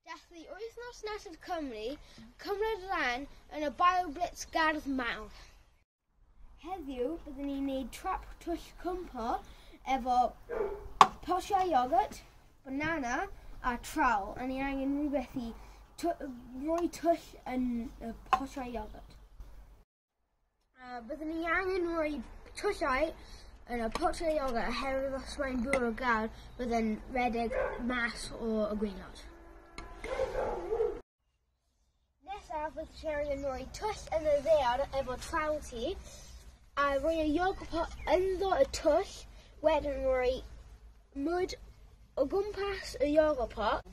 Dathlu wythnos nesaf Cymru, cymryd rhan yn y BioBlitz Gardd Mawr. Heddiw byddwn ni'n gwneud trap twll cwmpo efo potiau iogwrt, banana a trowel. A ni angen rhywbeth i rhoi twll yn y potiau iogwrt. Byddwn ni angen rhoi tyllau yn y potiau iogwrt oherwydd os mae'n bwrw glaw byddwn redeg mas o y gwaelod. Nesaf bydd Cherry yn rhoi twll yn y ddaear efo trowel ti a rhoi y yoghurt pot ynddo y twll, wedyn rhoi mwd o gwmpas y yoghurt pot.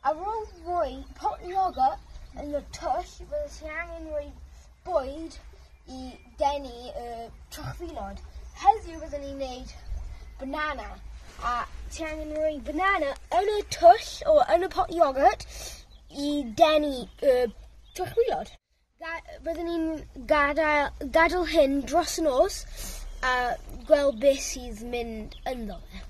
Ar ôl rhoi pot yoghurt yn y twll, bydd ti angen rhoi bwyd i denu y trychfilod. Heddiw byddwn ni'n gwneud banana, a ti angen rhoi banana yn y twll o yn y pot yoghurt i denu y trychfilod. Byddwn ni'n gadael hyn dros y nos a gweld beth sydd mynd ynddo fe.